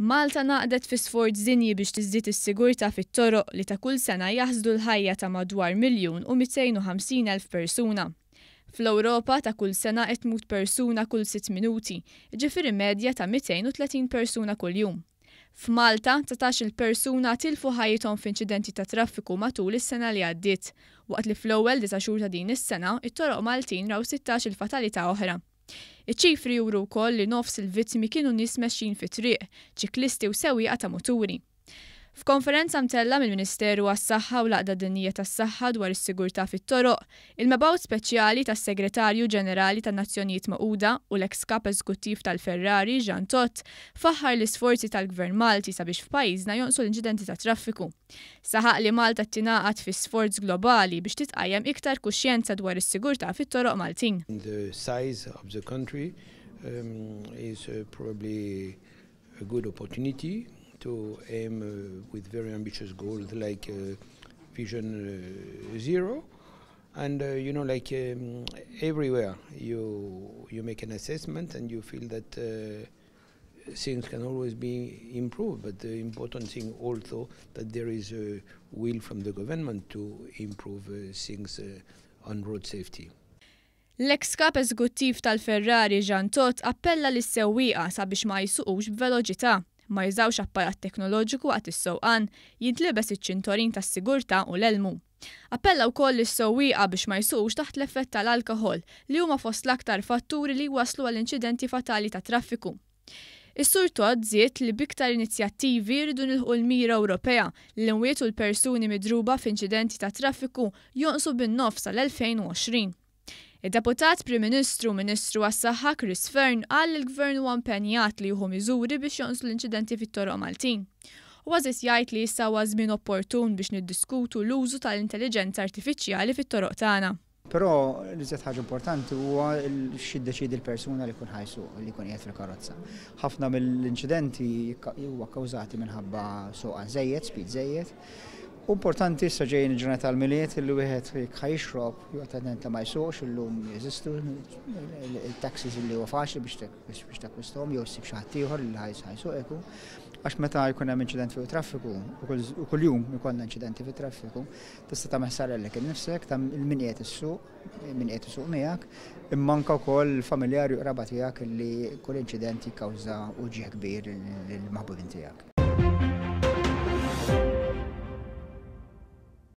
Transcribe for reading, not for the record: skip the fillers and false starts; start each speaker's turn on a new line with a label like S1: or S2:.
S1: Malta ngħaqdet fi sforz dinji biex tiżdied is-sigurtà fit-toroq li ta' kull sena jaħsdu l-ħajja ta' madwar 1,250,000 persuna. Fl-Ewropa ta' kull sena qed tmut persuna kull sitt minuti, jiġifieri medja ta' 230 persuna kuljum. F'Malta, 19-il persuna tilfu ħajjithom f'inċidenti ta' traffiku matul is-sena li għaddiet, waqt li fl-ewwel disa' xhur ta' din is-sena, it-toroq Maltin raw 16-il fatalità oħra. Iċ-ċifri juru wkoll li nofs il-vittmi kienu nies mexjin fit-triq, ċiklisti u sewwieqa ta' muturi. F'konferenza mtellgħa mill-Ministeru għas-Saħħa u l-Għaqda Dinjija tas-Saħħa dwar is-sigurtà fit-toroq, il-Mebgħut Speċjali tas-Segretarju Ġenerali tan-Nazzjonijiet Magħquda u l-eks Kap Eżekuttiv tal-Ferrari, Jean Todt, faħħar l-isforzi tal-Gvern Malti sabiex f'pajjiżna jonqsu l-inċidenti tat-traffiku. Saħaq li Malta tingħaqad fi sforz globali biex titqajjem iktar kuxjenza dwar is-sigurtà fit-toroq Maltin.
S2: The size of the country is probably a good opportunity to aim with very ambitious goals like Vision Zero. And like everywhere you make an assessment and you feel that things can always be improved, but the important thing also that there is a will from the government to improve things on road safety.
S1: L-eks kap eżekuttiv tal-Ferrari Jean Todt appella lis-sewwieqa sabiex ma jsuqux b'veloċità, ma jużawx apparat teknoloġiku waqt is-sewqan, jintlibes iċ-ċintorin tas-sigurtà u l-elmu. Appella wkoll lis-sewwieqa biex ma jsuqux taħt l-effett tal-alkoħol li huma fost l-aktar fatturi li jwasslu għal inċidenti fatali ta' traffiku. Is-Sur Todt żied li b'iktar inizjattivi jridu nilħqu l-mira Ewropea li l-imwiet u l-persuni midruba f'inċidenti ta' traffiku jonqsu bin-nofs sal-2020. Id-Deputat Prim Ministru u Ministru għas-Saħħa Chris Fearne qal li l-Gvern huwa impenjat li jieħu miżuri biex jonqsu l-inċidenti fit-toroq Maltin. Huwa żied jgħid li issa huwa żmien opportun biex niddiskutu l-użu tal-intelliġenza artifiċjali fit-toroq tagħna.
S3: Però l-iżjed ħaġa importanti huwa x'jiddeċiedi l-persuna li jkun ħa jsuq, li jkun qiegħed fil-karozza. Ħafna mill-inċidenti huwa kkawżati minħabba sewqan żejjed, speed żejjed. U importanti issa ġejjin il-ġurnata tal-Milied li wieħed jekk ħa jixrob joqgħod attent li ma jsuqx, illum jeżistu il-taxis li huwa faċli biex takkwisthom jew issib xi ħadd ieħor li ħa jsuqek hu. Għax meta jkun hemm inċident fuq it-traffiku, u kuljum ikollna inċidenti fit-traffiku, tista' tagħmel ħsara lilek innifsek, ta' min qiegħed issuq, min qiegħed isuq miegħek, imma anke wkoll il-familjari u qraba tiegħek li kull inċident jikkawża uġigħ kbir lill-maħbubin tiegħek.